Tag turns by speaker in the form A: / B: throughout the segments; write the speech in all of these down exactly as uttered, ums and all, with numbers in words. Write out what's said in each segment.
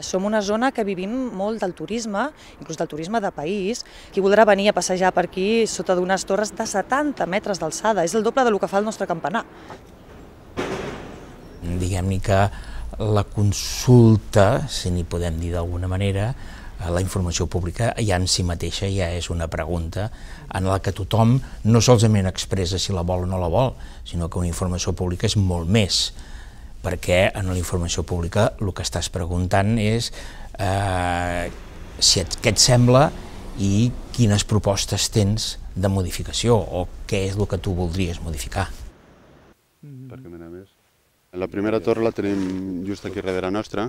A: Som una zona que vivim molt del turisme, inclús del turisme de país. Qui voldrà venir a passejar per aquí sota d'unes torres de setanta metres d'alçada, és el doble del que fa el nostre campanar.
B: Diguem-ne que la consulta, si n'hi podem dir d'alguna manera, la informació pública ja en si mateixa ja és una pregunta en la que tothom no solament expressa si la vol o no la vol, sinó que una informació pública és molt més, perquè en la informació pública el que estàs preguntant és eh, si et, què et sembla i quines propostes tens de modificació o què és el que tu voldries modificar.
C: Perquè mira més. La primera torre la tenim just aquí darrere nostra,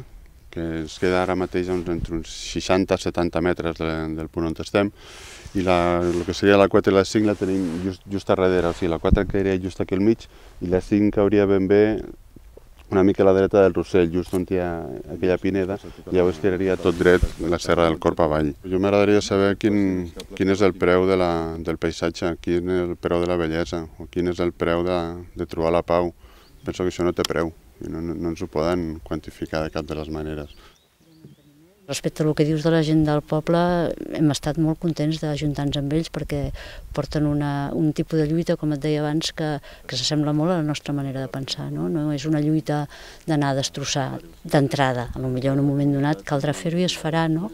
C: que ens queda ara mateix entre uns seixanta a setanta metres de, del punt on estem, i la, el que seria la quatre i la cinc la tenim just, just a darrere, o sigui, la quatre quedaria just aquí al mig i la cinc hauria ben bé una mica a la dreta del Rossell, just on hi ha aquella pineda, i llavors tiraria tot dret la Serra del Corp avall. Jo m'agradaria saber quin, quin és el preu de la, del paisatge, quin és el preu de la bellesa, o quin és el preu de, de trobar la pau. Penso que això no té preu, i no, no, no ens ho poden quantificar de cap de les maneres.
D: Respecte al que dius de la gent del poble, hem estat molt contents d'ajuntar-nos amb ells perquè porten una, un tipus de lluita, com et deia abans, que, que s'assembla molt a la nostra manera de pensar. No, no és una lluita d'anar a destrossar d'entrada. Potser en un moment donat caldrà fer-ho i es farà, no?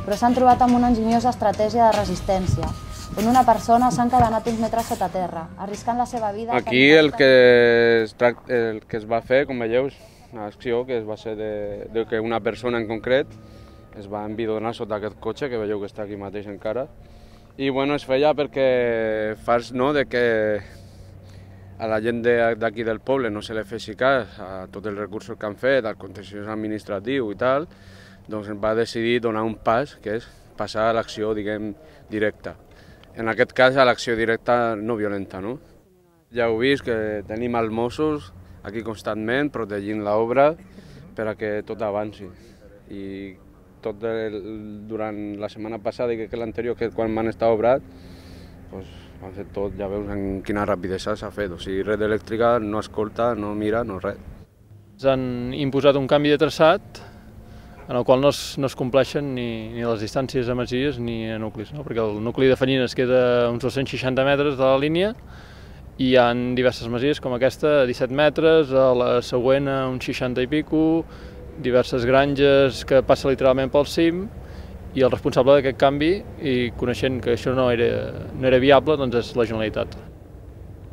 E: Però s'han trobat amb una enginyosa estratègia de resistència, on una persona s'ha encadenat uns metres sota terra, arriscant la seva vida...
F: Aquí el que, es, el que es va fer, com veieu, una acció que es va ser de, de que una persona en concret es va envidonar sota aquest cotxe, que veieu que està aquí mateix encara, i bueno, es feia perquè fas no, de que a la gent d'aquí del poble no se li fessi cas a tots els recursos que han fet, al contenciós administratiu i tal, doncs va decidir donar un pas, que és passar a l'acció, diguem, directa. En aquest cas, a l'acció directa no violenta, no? Ja heu vist que tenim els Mossos aquí constantment protegint l'obra per a que tot avanci. I tot el, durant la setmana passada i que l'anterior, que quan van estar obrat, doncs han fet tot, ja veus en quina rapidesa s'ha fet. O sigui, Red Elèctrica no escolta, no mira, no res.
G: Ens han imposat un canvi de traçat en el qual no es, no es compleixen ni, ni les distàncies a masies ni a nuclis, no? Perquè el nucli de Fanyines queda a uns dos-cents seixanta metres de la línia i hi ha diverses masies com aquesta a disset metres, a la següent a uns seixanta i pico, diverses granges que passa literalment pel cim, i el responsable d'aquest canvi, i coneixent que això no era, no era viable, doncs és la Generalitat.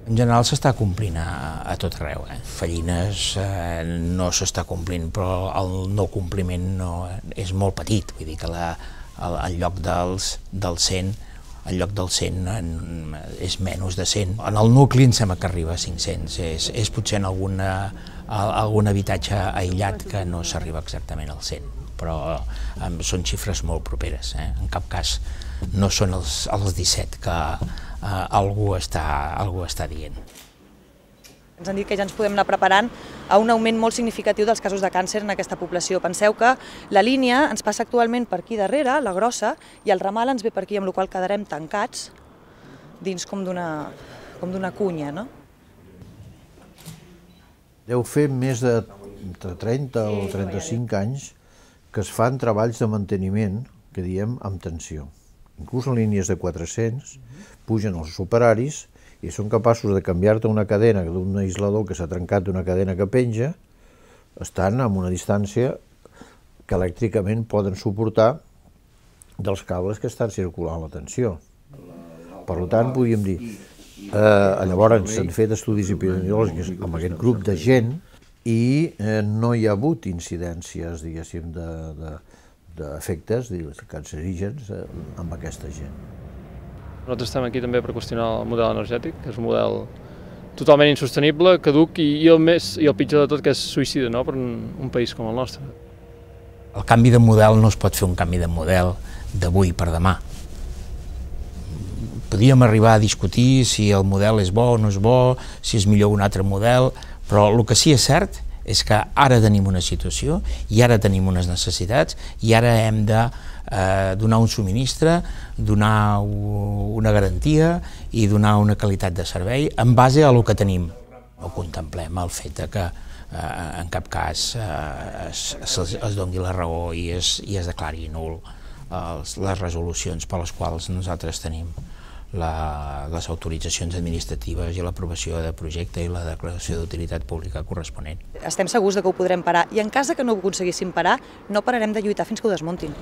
B: En general s'està complint a, a tot arreu. Eh? Fallines eh, no s'està complint, però el no compliment no, és molt petit. Vull dir que la, el, el lloc dels, del cent, el lloc del cent en, és menys de cent. En el nucli em sembla que arriba a cinc-cents. És, és potser en alguna, algun habitatge aïllat que no s'arriba exactament al cent, però eh, són xifres molt properes. Eh? En cap cas no són els, els disset que Uh, algú, està, algú està dient.
A: Ens han dit que ja ens podem anar preparant a un augment molt significatiu dels casos de càncer en aquesta població. Penseu que la línia ens passa actualment per aquí darrere, la grossa, i el ramal ens ve per aquí, amb la qual cosa quedarem tancats dins com d'una com d'una cunya, no?
H: Deu fer més de trenta o trenta-cinc anys que es fan treballs de manteniment, que diem, amb tensió. Inclús en línies de quatre-cents, pugen els operaris i són capaços de canviar-te una cadena d'un aislador que s'ha trencat d'una cadena que penja, estan a una distància que elèctricament poden suportar dels cables que estan circulant la tensió. Per tant, podríem dir, eh, llavors s'han fet estudis epidemiològics amb aquest grup de gent i eh, no hi ha hagut incidències, diguéssim, de, de d'efectes cancerígens amb aquesta gent.
G: Nosaltres estem aquí també per qüestionar el model energètic, que és un model totalment insostenible, caduc i, i, el, més, i el pitjor de tot que és suïcida, no?, per un, un país com el nostre.
B: El canvi de model no es pot fer un canvi de model d'avui per demà. Podríem arribar a discutir si el model és bo o no és bo, si és millor un altre model, però el que sí és cert és que ara tenim una situació i ara tenim unes necessitats i ara hem de eh, donar un subministre, donar una garantia i donar una qualitat de servei en base a el que tenim. No contemplem el fet de que eh, en cap cas eh, es, es, es doni la raó i es, i es declari nul els, les resolucions per les quals nosaltres tenim la, les autoritzacions administratives i l'aprovació de projecte i la declaració d'utilitat pública corresponent.
A: Estem segurs que ho podrem parar i en cas que no ho aconseguíssim parar, no pararem de lluitar fins que ho desmuntin.